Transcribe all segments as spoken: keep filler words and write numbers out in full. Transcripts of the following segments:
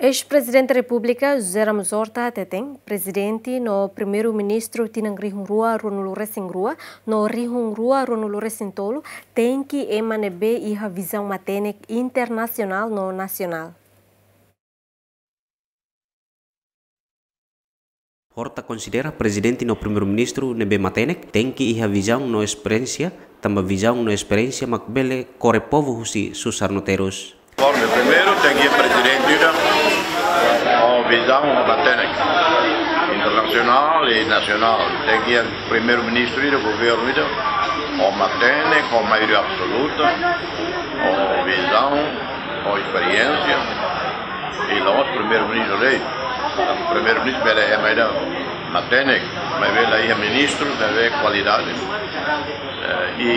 Eis-Prezidente Repúblika José Ramos Horta hateten, Prezidente no Primeiru-Ministru tinan rihun rua ruanulu-resin-rua no rihun rua ruanulu-resin-tolu tenke ema ne'ebé iha vizaun matenek internasionál no nasionál. Horta konsidera Prezidente no Primeiru-Ministru ne'ebé matenek tenke iha vizaun no esperiénsia, tanba vizaun no esperiénsia mak bele kore povu husi susar no terus. Bom, primeiru tenke iha prezidente ida ho vizaun matenek, internasionál i nasionál. Tenke iha Primeiru-Ministru ida, governu ida ho matenek, ho maioria absoluta, ho vizaun, ho esperiénsia. I la'ós Primeiru-Ministru de'it. Primeiru-Ministru bele ema ida matenek, maibé la iha ministru ne'ebé kualidade. Eh, i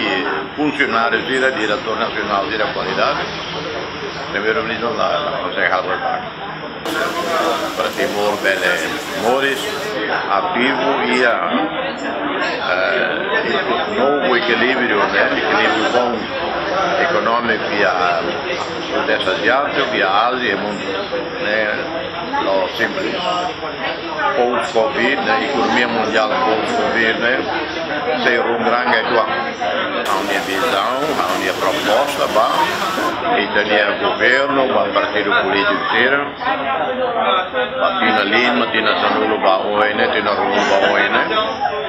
funsionáriu sira, diretór nasionál sira kualidade. Primeiru-Ministru la, la konsege halo buat. Para Timor bele moris ativu iha, eh, novu ekilíbriu, ne'e, ekilíbriu bom ekonómiku iha Sudeste Aziátiku, iha Ázia i mundu, ne'e, no simples. Post-Covid, ne'e, ekonomia mundiál post-Covid, ne'e, sei rungrangai tuan. Ha'u-nia vizaun, ha'u-nia proposta ba ita-nia governu, ba partidu polítiku sira, ba tinan lima, tinan sanulu ba oin ne'e, tinan ruanulu ba oin ne'e,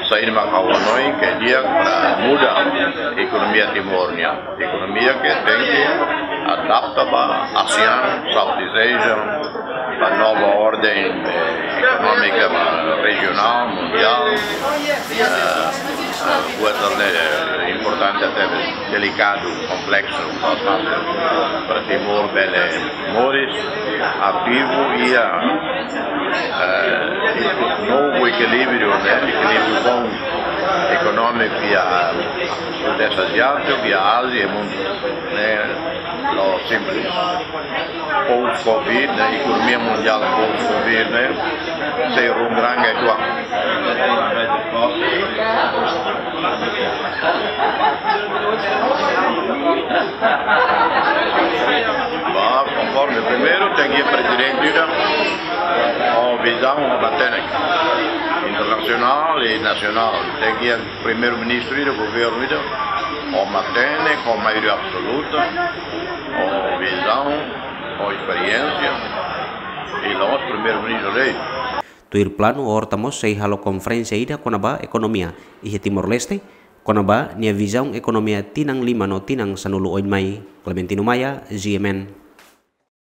saida mak ha'u hanoin ke di'ak para muda ekonomia Timor nian. Ekonomia ke tenke adapta ba ASEAN, Southeast Asia, ba nova orden, eh, ekonómika, ba rejionál, mundiál. Eh, eh, buat ne'e, eh, importante, até delikadu, kompleksu, ba, ba, para Timor bele moris ativu iha, eh, novu ekilíbriu, ne'e, ekilíbriu bom ekonómiku iha Sudeste Aziátiku, iha Ázia i mundu, ne'e, no simples. Post-Covid, ne'e, ekonomia mundiál post-Covid, ne'e, sei rungrangai tuan. Ba, konforme primeiru, tenke iha prezidente ida ho vizaun matenek, internasionál i nasionál. Tenke iha Primeiru-Ministru ida, governu ida ho matenek, ho maioria absoluta, ho vizaun, ho esperiénsia, i la'ós Primeiru-Ministru de'it. Tuir planu, Horta mós sei halo konferénsia ida kona-ba ekonomia iha Timor-Leste, kona-ba nia vizaun ekonomia tinan lima no tinan sanulu oin mai. Clementino Maia, G M N.